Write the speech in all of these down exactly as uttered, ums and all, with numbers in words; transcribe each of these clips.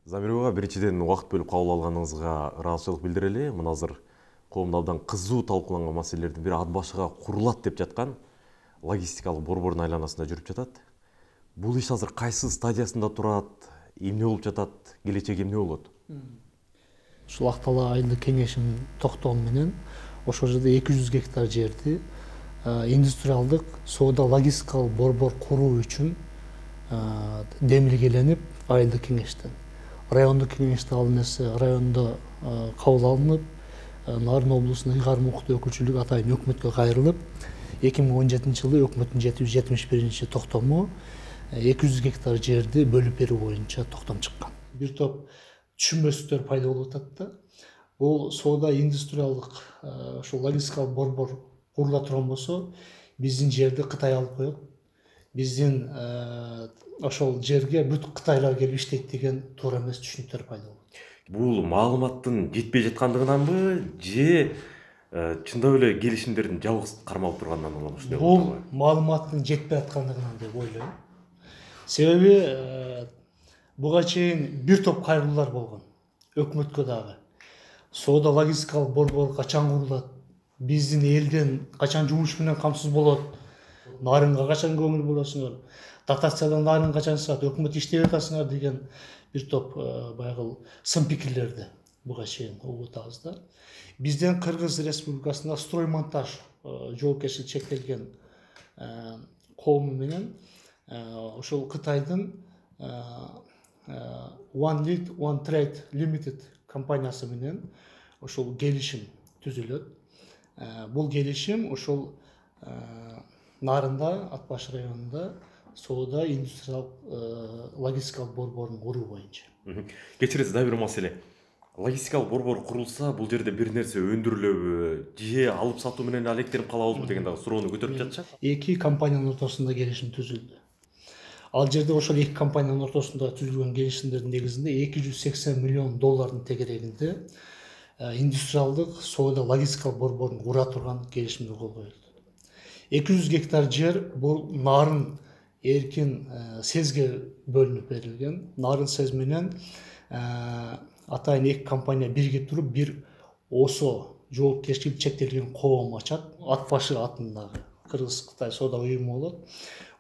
Замирова, биринчиден убакыт бөлүп кабыл алганыңызга ыраазычылык билдирели. Мына азыр коомдо абдан кызуу талкууланган маселелердин бири ат башыга курулат деп жаткан логистикалык борбордун айланасында жүрүп жатат. Бул иш азыр кайсы стадиясында турат, эмне болуп жатат, келечеги эмне болот? Ушул Ак Талаа айылдык кеңешинин токтому менен ошол жерде эки жүз гектар жерди индустриалдык соода логистикалык борбор куруу үчүн демилгеленип айылдык кеңештен райондук кеңеште ал нерсе райондо кабыл алынып, Нарын облусунун ыйгарым укуктуу өкүлчүлүгү атайын өкмөткө кайрылып, эки миң он жетинчи жылы өкмөттүн жети жүз жетимиш биринчи токтому эки жүз гектар жерди бөлүп берүү боюнча токтом чыккан. Бир топ түшүнбөстүктөр пайда болуп атат да. Бул соода индустриалдык ошол логистикалык борбор курула турган болсо, биздин жерди Кытай алып коет. Биздин ошол жерге бүт кытайлар келип иштейт деген туура эмес түшүнүктөр пайда болот. Бул маалыматтын жетпей жаткандыгынанбы же чындап эле келишимдердин жалгыз кармалып турганынан улам ушундай болуп атабы? Бул маалыматтын жетпей аткандыгынан деп ойлойм. Себеби буга чейин бир топ кайрылуулар болгон. Өкмөткө дагы. Соода логистикалык борбор качан курулат? Биздин элден качан жумуш менен камсыз болот? Нарынга качан көңүл бурасыңар? Дотациядан нарын качан чыгат? Өкмөт иштеп атасыңар деген бир топ баягы сын пикирлерди буга чейин угуп атабыз да. Бизден Кыргыз Республикасында строймонтаж жоопкерчилиги чектелген коому менен ошол Кытайдын One Lead One Trade Limited компаниясы менен ошол келишим түзүлөт. Бул келишим ошол Нарында, Ат башы районунда соода индустриалдык логистикалык борборун куруу боюнча. Кечиресиз, да бир маселе. Логистикалык борбор курулса, бул жерде бир нерсе өндүрүлөбү, же алып сатуу менен алектенип калабызбы деген дагы суроону көтөрүп жатышат. Эки компаниянын ортосунда келишим түзүлдү. Ал жерде ошол эки компаниянын ортосунда түзүлгөн келишимдердин негизинде эки жүз сексен миллион доллардын тегерегинде индустриалдык соода логистикалык борборун кура турган келишимдер кол коюлду. эки жүз гектар жер бул Нарын эркин сезге бөлүнүп берилген. Нарын сез менен атайын эки компания биригип туруп бир ОСО жоопкерчилиги чектелген коом ачат. Ат башы атындагы Кыргыз-Кытай соода уюму болот.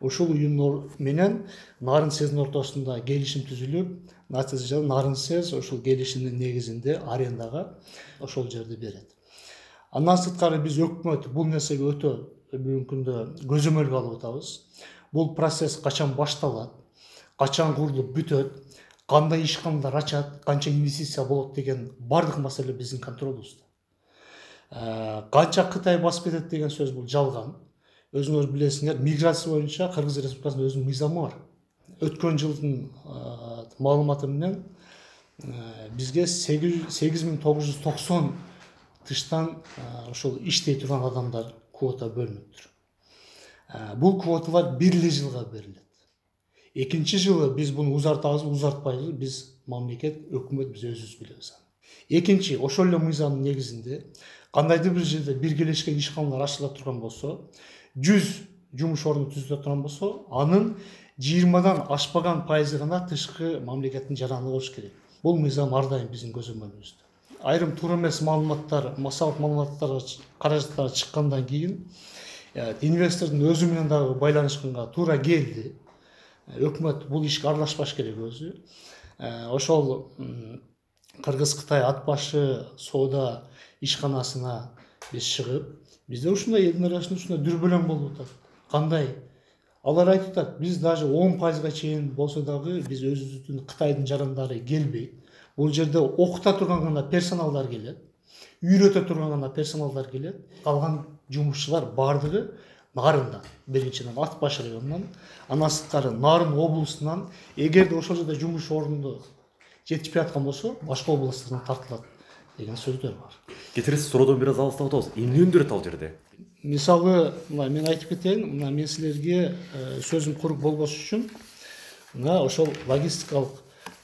Ошол уюм менен Нарын сездин ортосунда келишим түзүлүп, натыйжада Нарын сез ошол келишимдин негизинде арендага ошол жерди берет. Андан сырткары биз өкмөт бул нерсеге өтө бүгүнкү күндө көзөмөлгө алып атабыз. Бул процесс качан башталат, качан курулуп бүтөт, кандай ишканалар ачат, канча инвестиция болот деген бардык маселе биздин контролубузда. Канча Кытай басып кетет деген сөз бул жалган. Өзүңөр билесиңер, миграция боюнча Кыргыз Республикасынын өзүнүн мыйзамы бар. Өткөн жылдын маалыматы менен бизге сегиз миң тогуз жүз токсон тыштан ошол иштей турган адамдар квота бөлүнүптүр. Бул квоталар бир эле жылга берилет. Экинчи жылы биз буну узартабызбы, узартпайбызбы, биз мамлекет, өкмөт биз өзүбүз билебиз. Экинчи, ошол эле мыйзамдын негизинде кандайдыр бир жерде биргелешкен ишканалар ачыла турган болсо, жүз жумуш орну түзүлө турган болсо, анын жыйырмадан ашпаган пайызы гана тышкы мамлекеттин жараны болуш керек. Бул мыйзам ар дайым биздин көзөмөлүбүздө. Айрым туура эмес маалыматтар, массалык маалыматтар каражаттар чыккандан кийин инвестордун өзү менен дагы байланышканга туура келди. Өкмөт бул ишке аралашпаш керек өзү. Ошол Кыргыз-Кытай ат башы соода ишканасына биз чыгып, бизде ушундай элдин арасында ушундай дүрбөлөң болуп атат. Кандай? Алар айтып атат, биз даже он пайызга чейин болсо дагы биз өзүбүздүн Кытайдын жарандары келбейт. Бул жерде окута турган гана персоналдар келет, үйрөтө турган гана персоналдар келет. Калган жумушчулар бардыгы Нарындан, биринчиден Ат башы районунан, андан сырткары Нарын облусунан, эгерде ошол жерде жумуш орнунда жетишпей аткан болсо, башка областтардан тартылат деген сөздөр бар. Кечиресиз, суроодон бир аз алыстап атабыз. Эмне өндүрөт ал жерде? Мисалы, мына мен айтып кетейин, мына мен силерге сөзүм курук болбош үчүн мына ошол логистикалык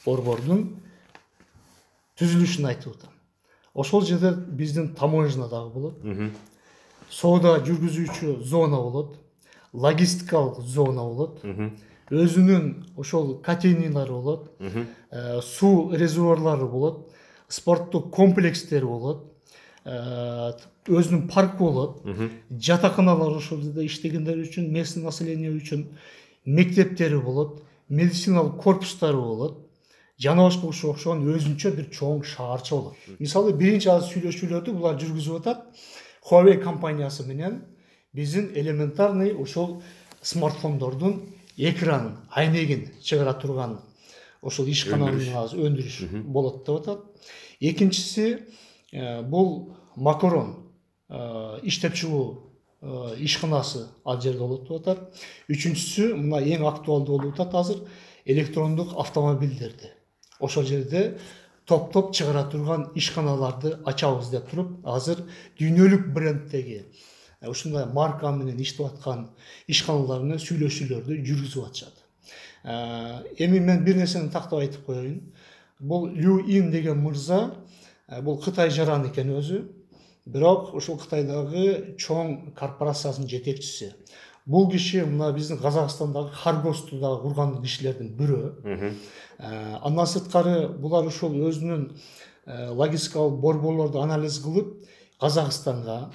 борбордун түзүлүшүн айтып атам. Ошол жерде биздин таможня дагы болот. Соода жүргүзүүчү зона болот, логистикалык зона болот. өзүнүн ошол котельниялары болот, суу резервуарлары болот, спорттук комплекстери болот, өзүнүн паркы болот, жатаканалар ошол жерде иштегендер үчүн, местный население үчүн, мектептери болот, медициналык корпустары болот, жана башка ошого окшогон өзүнчө бир чоң шаарча болот. Мисалы, биринчи азыр сүйлөшүүлөрдү булар жүргүзүп атат. Huawei компаниясы менен биздин элементарный ошол смартфондордун экранын, айнегин чыгара турган ошол ишкананын өндүрүш болот деп атат. Экинчиси, бул макарон иштеп чыгуу ишканасы ал жерде болот деп атат. Үчүнчүсү, мына эң актуалдуу болуп атат азыр, электрондук автомобилдерди ошол жерде топ-топ чыгара турган ишканаларды ачабыз деп туруп, азыр дүйнөлүк бренддеги ушундай марка менен иштеп аткан ишканалар менен сүйлөшүүлөрдү жүргүзүп атышат. Эми мен бир нерсени тактап айтып коеюн. Бул Лю Ин деген мырза, бул Кытай жаран экен өзү, бирок ошол Кытайдагы чоң корпорациясынын жетекчиси. Бул киши мына биздин Казакстандагы Харгосту дагы курган кишилердин бирөө. Андан сырткары булар ошол өзүнүн логистикалык борборлорду анализ кылып, Казакстанга,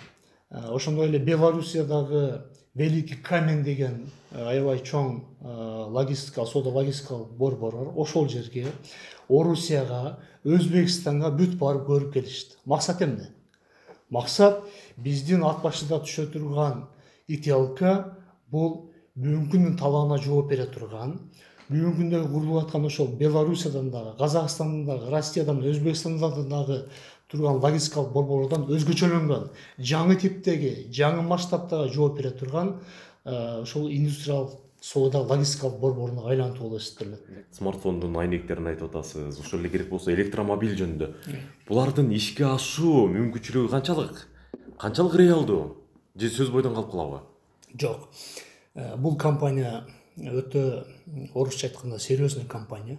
ошондой эле Белоруссиядагы Великий Камень деген аябай чоң логистика, соода логистикалык борбор бар. Ошол жерге, Орусияга, Өзбекстанга бүт барып көрүп келишти. Максат эмне? Максат биздин ат башыда түшө турган италка бул бүгүнкү күндүн талабына жооп бере турган, бүгүнкү күндө курулуп аткан ошол Белоруссиядан дагы, Казакстандан дагы, Россиядан, Өзбекстандан дагы турган логистикалык борборлордон өзгөчөлөнгөн, жаңы типтеги, жаңы масштабтагы жооп бере турган ошол индустриалдык соода логистикалык борборуна айлантуу болуп эсептелет. Смартфондун айнектерин айтып атасыз. Ошол эле керек болсо электромобиль жөнүндө. Булардын ишке ашуу мүмкүнчүлүгү канчалык? Канчалык реалдуу? Же сөз бойдон калып калабы? Жок. Бул компания өтө, орусча айтканда, серьезный компания.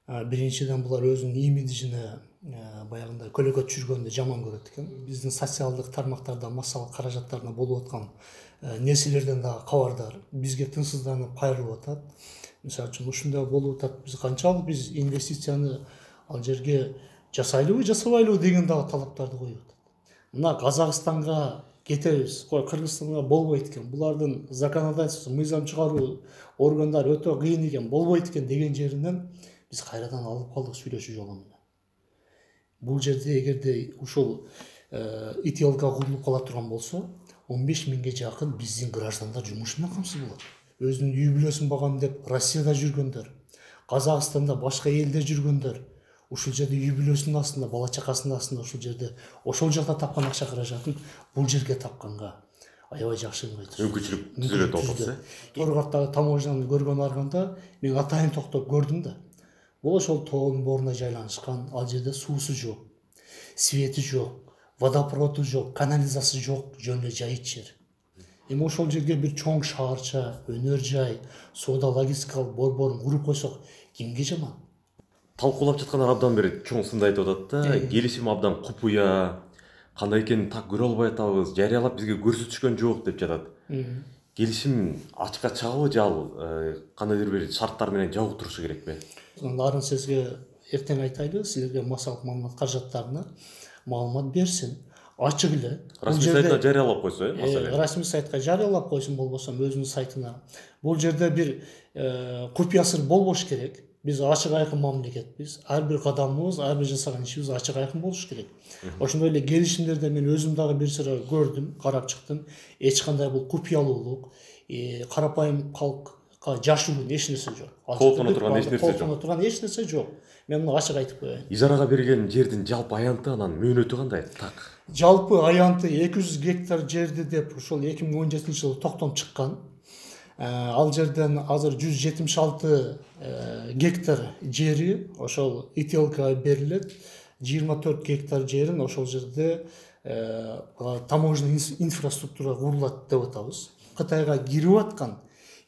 Биринчиден булар өзүнүн имиджине баягындай көлөкө түшүргөндү жаман көрөт экен. Биздин социалдык тармактарда, массалык каражаттарда болуп аткан нерселерден дагы кабардар. Бизге тынчсызданып кайрылып атат. Мисалы үчүн ушундай болуп атат. Биз канчалык биз инвестицияны ал жерге жасайлыбы, жасабайлыбы деген дагы талаптарды коюп атат. Мына Казакстанга кетебиз, Кыргызстанга болбойт экен. Булардын законодательство, мыйзам чыгаруу органдары өтө кыйын экен, болбойт экен деген жеринен биз кайрадан алып калдык сүйлөшүү жолу менен. Бул жерде эгерде ушул италка курулуп кала турган болсо, он беш миңге жакын биздин граждандар жумуш менен камсыз болот. Өзүнүн үй бүлөсүн багам деп Россияда жүргөндөр, Казакстанда, башка элде жүргөндөр, ушул жерде үй бүлөсүнүн астында, бала чакасынын астында ошол жерде, ошол жакта тапкан акча каражатын бул жерге тапканга аябай жакшы мүмкүнчүлүк түзүлөт болсо. Торгорттагы таможняны көргөн арганда мен атайын токтоп көрдүм да. Бул ошол тоонун боруна жайланышкан, ал жерде суусу жок, свети жок, водопроводу жок, канализациясы жок, жөн эле жайыт жер. Эми ошол жерге бир чоң шаарча, өнөр жай, соода логистикалык борборун куруп койсок, кимге жаман? Талкуулап жаткандар абдан бери чоң сында айтып атат да, келишим абдан купуя, кандай экенин так көрө албай атабыз, жарыялап бизге көрсөтүшкөн жок деп жатат. Келишим ачыкка чыгабы же ал кандайдыр бир шарттар менен жабык турушу керекпи? Арын сизге эртең айтайлы, силерге массалык маалымат каражаттарына маалымат берсин. Ачык эле. Расмий сайтына жарыялап койсо, э, маселе. Расмий сайтка жарыялап койсун, болбосо өзүнүн сайтына. Бул жерде бир купуя сыр болбош керек. Биз ачык айкын мамлекетпиз. Ар бир кадамыбыз, ар бир жасаган ишибиз ачык айкын болуш керек. Ошондой эле келишимдерде мен өзүм дагы бир сыра көрдүм, карап чыктым. Эч кандай бул купуялуулук, карапайым калкка жашуун эч нерсе жок. Колтоно турган эч нерсе жок. Колтоно турган эч нерсе жок. Мен муну ачык айтып коеюн. Ижарага берилген жердин жалпы аянты анан мөөнөтү кандай? Так. Жалпы аянты эки жүз гектар жерди деп ушул эки миң он жетинчи жылы токтом чыккан. Ал жерден азыр жүз жетимиш алты гектар жери ошол италкага берилет. жыйырма төрт гектар жерин ошол жерде таможенный инфраструктура курулат деп атабыз. Кытайга кирип аткан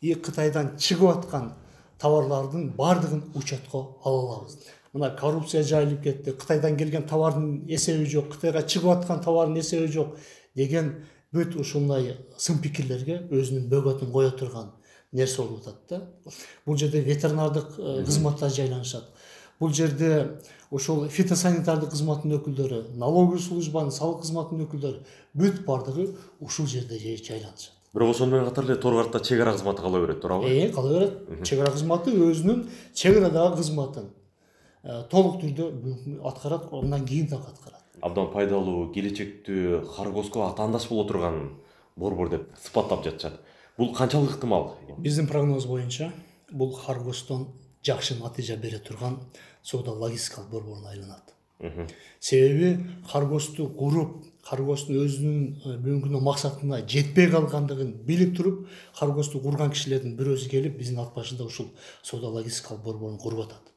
и Кытайдан чыгып аткан товарлардын бардыгын учетко ала алабыз. Мына коррупция жайылып кетти. Кытайдан келген товардын эсеби жок, Кытайга чыгып аткан товардын эсеби жок деген бүт ушундай сын пикирлерге өзүнүн бөгөтүн кое турган нерсе болуп атат да. Бул жерде ветеринардык кызматтар жайланышат. Бул жерде ошол фитосанитардык кызматтын өкүлдөрү, налоговый службанын, салык кызматынын өкүлдөрү бүт бардыгы ушул жерде жайланышат. Бирок ошону менен катар эле тор картта чек ара кызматы кала берет, туурабы? Э, кала берет. Чек ара кызматы өзүнүн чек арадагы кызматын толук түрдө аткарат, андан кийин дагы аткарат. Абдан пайдалуу, келечектүү, Харгоско атаандаш боло турган борбор деп сыпаттап жатышат. Бул канчалык ыктымал? Биздин прогноз боюнча бул Харгостон жакшы натыйжа бере турган соода логистикалык борборуна айланат. Себеби Харгосту куруп, Харгостун өзүнүн бүгүнкү күндө максатына жетпей калгандыгын билип туруп, Харгосту курган кишилердин бирөөсү келип биздин ат башында ушул соода логистикалык борборун куруп атат.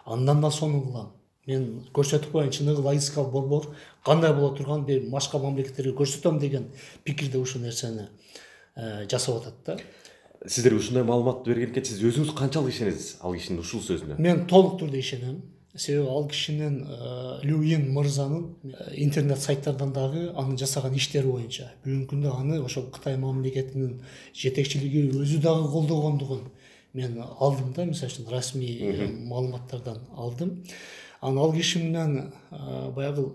Андан да сонун кылам. Мен көрсөтүп коеюн, чыныгы логистикалык борбор кандай боло турган, башка мамлекеттерге көрсөтөм деген пикирде ушул нерсени жасап атат да. Сиздер ушундай маалымат берген экен, сиз өзүңүз канчалык ишенесиз ал кишинин ушул сөзүнө? Мен толук түрдө ишенем. Себеби ал кишинин Люин мырзанын интернет сайттардан дагы анын жасаган иштери боюнча бүгүнкү күндө аны ошол Кытай мамлекетинин жетекчилиги өзү дагы колдогондугун мен алдым да, мисалы үчүн расмий маалыматтардан алдым. Анан ал киши менен баягы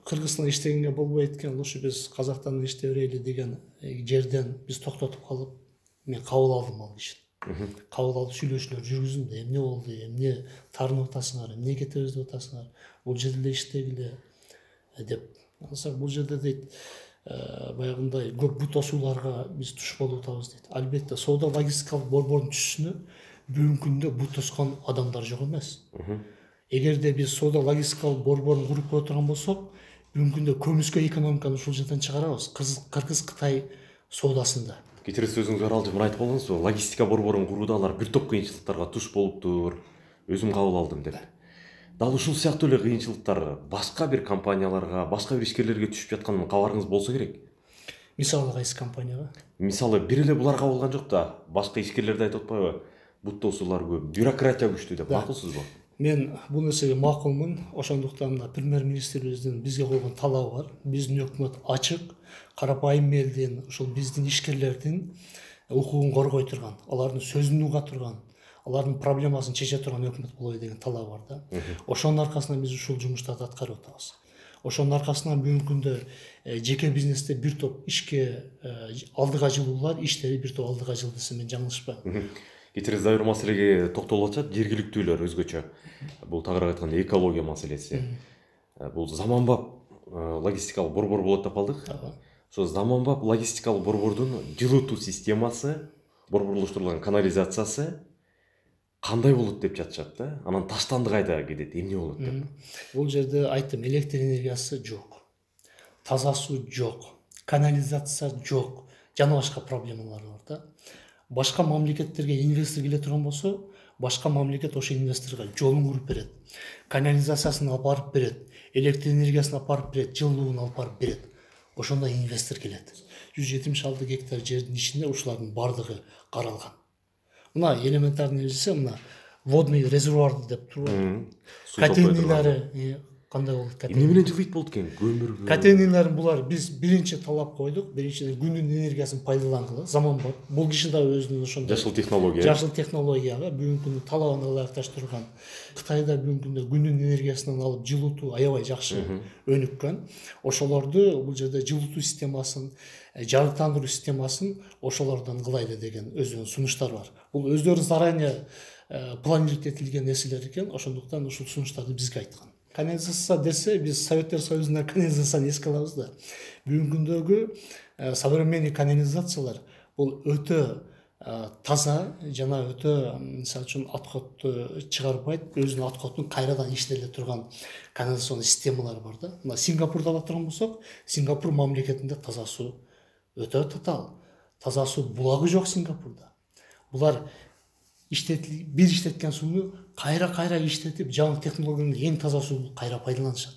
Кыргызстанда иштегенге болбойт экен, лучше биз Казактан иштей берели деген жерден биз токтотуп калып, мен кабыл алдым ал кишини. Кабыл алып сүйлөшүүлөр жүргүздүм да, эмне болду, эмне таарынып атасыңар, эмне кетебиз деп атасыңар, бул жерде иштегиле деп. Ансак бул жерде дейт, баягындай көп бут тосууларга биз туш болуп атабыз дейт. Албетте соода логистикалык борбордун түшүнө бүгүнкү күндө бут тоскон адамдар жок эмес. Эгерде биз соода логистикалык борборун куруп кое турган болсок, бүгүнкү күндө көмүскө экономиканы ушул жерден чыгарабыз. Кыргыз-Кытай соодасында. Кечиресиз, өзүңүз аралжы мына айтып болдуңузбу, логистика борборун курууда алар бир топ кыйынчылыктарга туш болуптур, өзүм кабыл алдым деп. Дал ушул сыяктуу эле кыйынчылыктар башка бир компанияларга, башка бир ишкерлерге түшүп жатканын кабарыңыз болсо керек. Мисалы кайсы компанияга? Мисалы бир эле буларга болгон жок да, башка ишкерлерди айтып атпайбы? Бут тосуулар көп, бюрократия күчтүү деп. Макулсузбу? Мен бул нерсеге макулмун. Ошондуктан да премьер-министрибиздин бизге койгон талабы бар. Биздин өкмөт ачык, карапайым элдин, ушул биздин ишкерлердин укугун коргой турган, алардын сөзүн уга турган, алардын проблемасын чече турган өкмөт болобу деген талабы бар да. Ошонун аркасынан биз ушул жумуштарды аткарып атабыз. Ошонун аркасынан бүгүнкү күндө жеке бизнесте бир топ ишке алдыга жылуулар, иштери бир топ алдыга жылды десем мен жаңылышпайм. Кечиресиз, дагы бир маселеге токтолуп атышат, жергиликтүүлөр өзгөчө. Бул тагыраак айтканда экология маселеси. Бул заманбап логистикалык борбор болот деп калдык. Ошо заманбап логистикалык борбордун жылытуу системасы, борборлоштурулган канализациясы кандай болот деп жатышат да? Анан таштанды кайда кетет, эмне болот деп. Бул жерде айттым, электр энергиясы жок, таза суу жок, канализация жок, жана башка проблемалар бар да. Башка мамлекеттерге инвестор келе турган болсо, башка мамлекет ошо инвесторго жолун куруп берет, канализациясын алып барып берет, электр энергиясын алып барып берет, жылууун алып барып берет. Ошондо инвестор келет. жүз жетимиш алты гектар жердин ичинде ушулардын бардыгы каралган. Мына элементарный нерсе, мына водный резервуар деп турбайбы? Котельнийлары кандай болот? Эмне менен жылыйт болот экен? Көмүргө. Котельнийларын булар биз биринчи талап койдук. Биринчиден күндүн энергиясын пайдалангыла, заманбап. Бул киши да өзүнүн ошондой жашыл технология. Жашыл технологияга бүгүнкү күндө талабына ылайыкташтырган. Кытайда бүгүнкү күндө күндүн энергиясынан алып жылытуу аябай жакшы өнүккөн. Ошолорду бул жерде жылытуу системасын, жарыктандыруу системасын ошолордон кылайлы деген өзүнүн сунуштары бар. Бул өздөрү заранее планировать этилген нерселер экен. Ошондуктан ушул сунуштарды бизге айткан. Канализация десе, биз Советтер Союзунда канализацияны эске алабыз да. Бүгүнкү күндөгү современный канализациялар бул өтө таза жана өтө, мисалы үчүн, отходду чыгарбайт, өзүнүн отходун кайрадан иштеле турган канализационный системалар бар да. Мына Сингапурду ала турган болсок, Сингапур мамлекетинде таза суу өтө татаал. Таза суу булагы жок Сингапурда. Булар иштетил бир иштеткен сууну кайра-кайра иштетип, жаңы технологиянын эң таза сууну кайра пайдаланышат.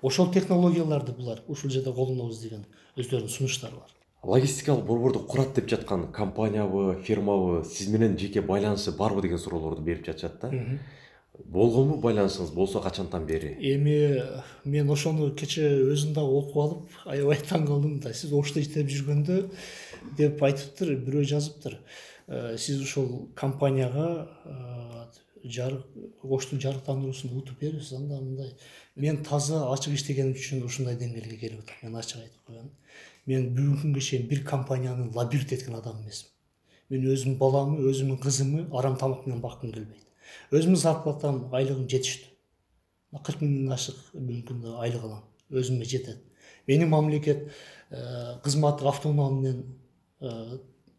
Ошол технологияларды булар ушул жерде колдонобуз деген өздөрүнүн сунуштары бар. Логистикалык борборду курат деп жаткан компаниябы, фирмабы, сиз менен жеке байланышы барбы деген суроолорду берип жатышат да. Болгонбу байланышыңыз, болсо качантан бери? Эми мен ошону кече өзүм дагы окуп алып, аябай таң калдым да. Сиз ошто иштеп жүргөндө деп айтыптыр, бирөө жазыптыр. сиз ушул компанияга жарык оштун жарыктандыруусун утуп бериңиз, анда мындай. Мен таза ачык иштегеним үчүн ушундай деңгээлге келип атам. Мен ачык айтып коеюн. Мен бүгүнкү күнгө чейин бир компанияны лабиринт эткен адам эмесмин. Мен өзүмдүн баламы, өзүмдүн кызымы арам тамак менен баккым келбейт. Өзүмдүн зарплатам, айлыгым жетиштүү. кырк миңден ашык бүгүнкү күндө айлык алам. Өзүмө жетет. Мени мамлекет кызматтык автоунаа менен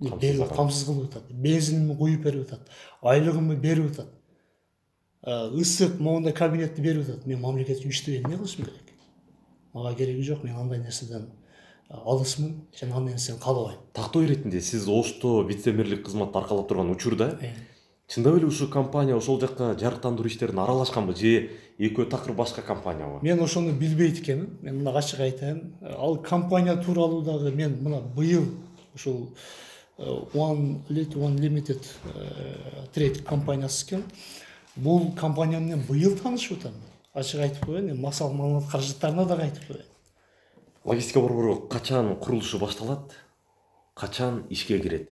камсыз кылып атат. Бензинимди куюп берип атат. Айлыгымды берип атат. Ысык моундай кабинетти берип атат. Мен мамлекет үчүн иштебей эмне кылышым керек? Мага кереги жок. Мен андай нерседен алысмын жана андай нерсени каалабайм. Тактоо иретинде сиз Ошто вице-мэрлик кызматты аркалап турган учурда чындап эле ушул компания ошол жакка жарыктандыруу иштерине аралашканбы же экөө такыр башка компаниябы? Мен ошону билбейт экенмин. Мен мына ачык айтайын. Ал компания тууралуу дагы мен мына быйыл ушул One Limited Trade компаниясы экен. Бул компания менен быйыл таанышып атам. Ачык айтып коеюн, максат маалымат каражаттарына дагы айтып коеюн. Логистика борбору качан курулушу башталат? Качан ишке кирет?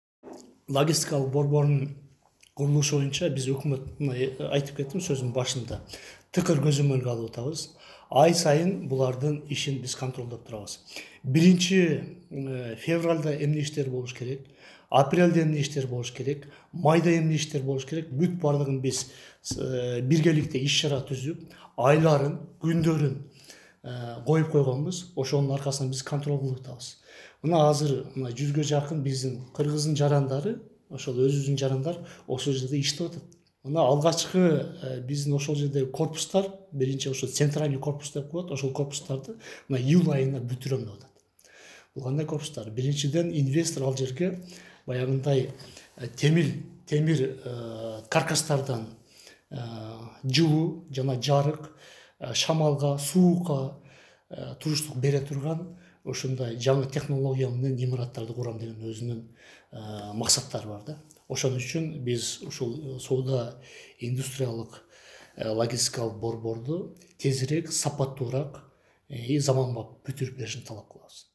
Логистикалык борбордун курулушу боюнча биз өкмөт айтып кеттим сөзүмдүн башында. Тыкыр көзөмөлгө алып атабыз. Ай сайын булардын ишин биз контролдоп турабыз. Биринчи февралда эмне иштер болуш керек? Апрелде эмне иштер болуш керек? Майда эмне иштер болуш керек? Бүт бардыгын биз биргеликте иш чара түзүп, айларын, күндөрүн коюп койгонбуз. Ошонун аркасынан биз контрол кылып атабыз. Мына азыр мына жүзгө жакын биздин кыргыздын жарандары, ошол өзүбүздүн жарандар ошол жерде иштеп атат. Мына алгачкы биздин ошол жердеги корпустар, биринчи ошо центральный корпус деп коет, ошол корпустарды мына июль айына бүтүрөм деп атат. Бул кандай корпустар? Биринчиден инвестор ал жерге баягындай темир темир каркастардан жылуу жана жарык, шамалга, суукка туруштук бере турган ошондой жаңы технология менен имараттарды курам деген өзүнүн максаттары бар да. Ошон үчүн биз ушул соода индустриялык логистикалык борборду тезирээк, сапаттуураак и заманбап бүтүрүп беришин талап кылабыз.